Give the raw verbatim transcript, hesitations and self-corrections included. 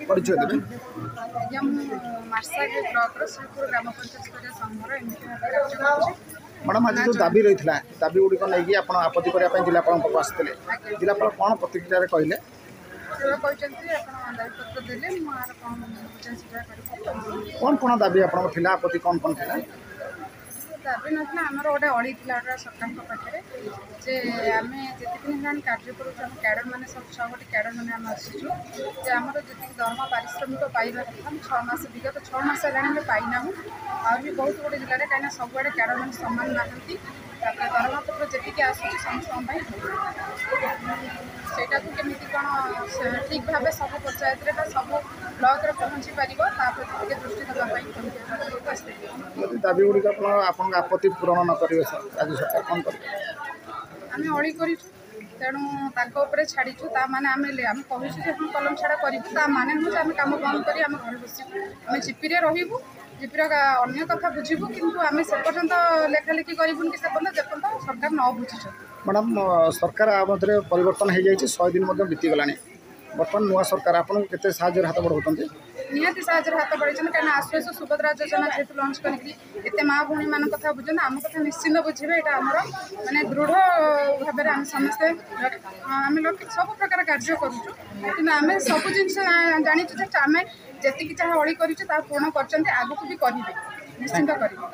ପରିଚୟ ଦେବେ। ଆଜ୍ଞା, ମୁଁ ମାର୍ଶାଘାଇ ବ୍ଲକର ଶ୍ରୀପୁର ଗ୍ରାମ ପଞ୍ଚାୟତ ସ୍ତରୀୟ ସଂଘର ଏମିତି ଭାବେ କାର୍ଯ୍ୟ କରୁଛି। ମ୍ୟାଡ଼ାମ୍, ଆଜି ଯେଉଁ ଦାବି ରହିଥିଲା, ଦାବି ଗୁଡ଼ିକ ନେଇକି ଆପଣ ଆପତ୍ତି କରିବା ପାଇଁ ଜିଲ୍ଲାପାଳଙ୍କ ପାଖକୁ ଆସିଥିଲେ, ଜିଲ୍ଲାପାଳ କ'ଣ ପ୍ରତିକ୍ରିୟାରେ କହିଲେ? ସେ କହିଛନ୍ତି ଆପଣ ଦାବିପତ୍ର ଦେଲେ ମୁଁ ଆର କ'ଣ ବୁଝାସୁଝା କରିକି। କ'ଣ କ'ଣ ଦାବି ଆପଣଙ୍କ ଥିଲା? ଆପତ୍ତି କ'ଣ କ'ଣ ଥିଲା? ଦାବି ନଥିଲା, ଆମର ଗୋଟେ ଅଳି ଥିଲା ଗୋଟେ ସରକାରଙ୍କ ପାଖରେ ଯେ ଆମେ ଯେତିକି ଦିନ ହେଲାଣି କାର୍ଯ୍ୟ କରୁଛୁ, ଆମ କ୍ୟାଡ଼ର ମାନେ ସବୁ ଛଅ ଗୋଟି କ୍ୟାଡ଼ର ମାନେ ଆମେ ଆସିଛୁ ଯେ ଆମର ଯେତିକି ଦରମା ପାରିଶ୍ରମିକ ପାଇବା କଥା, ଆମେ ଛଅ ମାସ, ବିଗତ ଛଅ ମାସ ହେଲାଣି ଆମେ ପାଇନାହୁଁ। ଆହୁରି ବି ବହୁତ ଗୁଡ଼ିଏ ଜିଲ୍ଲାରେ, କାହିଁକିନା ସବୁଆଡ଼େ କ୍ୟାଡ଼ର ମାନେ ସମାନ ନାହାନ୍ତି। ତାପରେ ଦରମା ପତ୍ର ଯେତିକି ଆସୁଛି ସମସ୍ତଙ୍କ ପାଇଁ, ସେଇଟାକୁ କେମିତି କ'ଣ ଠିକ୍ ଭାବେ ସବୁ ପଞ୍ଚାୟତରେ ବା ସବୁ ବ୍ଲକରେ ପହଞ୍ଚି ପାରିବ, ତା ପ୍ରତି ଟିକେ ଦୃଷ୍ଟି ଦେବା ପାଇଁ ଆସିଥିଲି। ଯଦି ଦାବି ଗୁଡ଼ିକ ଆପଣ ଆପଣଙ୍କ ଆପତ୍ତି ପୂରଣ ନ କରିବେ, ରାଜ୍ୟ ସରକାର କ'ଣ କରିବେ? ଆମେ ଅଳି କରିଛୁ, ତେଣୁ ତାଙ୍କ ଉପରେ ଛାଡ଼ିଛୁ। ତା ମାନେ ଆମେ ଆମେ କହିଛୁ ଯେ ହଁ, କଲମ ଛାଡ଼ କରିବୁ, ତା ମାନେ ନୁହଁ ଯେ ଆମେ କାମ ବନ୍ଦ କରି ଆମେ ଘରେ ବସିବୁ। ଆମେ ଜିପିରେ ରହିବୁ, ଜିପିର ଅନ୍ୟ କଥା ବୁଝିବୁ, କିନ୍ତୁ ଆମେ ସେ ପର୍ଯ୍ୟନ୍ତ ଲେଖାଲେଖି କରିବୁନି କି ସେ ପର୍ଯ୍ୟନ୍ତ ଯେପର୍ଯ୍ୟନ୍ତ ସରକାର ନ ବୁଝିଛନ୍ତି। ମ୍ୟାଡ଼ାମ୍, ସରକାର ଆ ମଧ୍ୟରେ ପରିବର୍ତ୍ତନ ହେଇଯାଇଛି, ଶହେ ଦିନ ମଧ୍ୟ ବିତିଗଲାଣି। ବର୍ତ୍ତମାନ ନୂଆ ସରକାର ଆପଣଙ୍କୁ କେତେ ସାହାଯ୍ୟରେ ହାତ ବଢ଼ାଉଛନ୍ତି? ନିହାତି ସାହାଯ୍ୟରେ ହାତ ବଢ଼େଇଛନ୍ତି, କାହିଁକିନା ଆସୁ ଆସୁ ସୁଭଦ୍ରା ଯୋଜନା ଯେହେତୁ ଲଞ୍ଚ କରିକି ଏତେ ମା ଭଉଣୀମାନଙ୍କ କଥା ବୁଝୁଛନ୍ତି, ଆମ କଥା ନିଶ୍ଚିନ୍ତ ବୁଝିବେ। ଏଇଟା ଆମର ମାନେ ଦୃଢ଼ ଭାବରେ ଆମେ ସମସ୍ତେ ଆମେ ଲୋକ ସବୁ ପ୍ରକାର କାର୍ଯ୍ୟ କରୁଛୁ, କିନ୍ତୁ ଆମେ ସବୁ ଜିନିଷ ଜାଣିଛୁ ଯେ ଆମେ ଯେତିକି ଯାହା ଅଳି କରିଛୁ ତାହା ପୂରଣ କରିଛନ୍ତି, ଆଗକୁ ବି କରିବେ, ନିଶ୍ଚିନ୍ତ କରିବେ।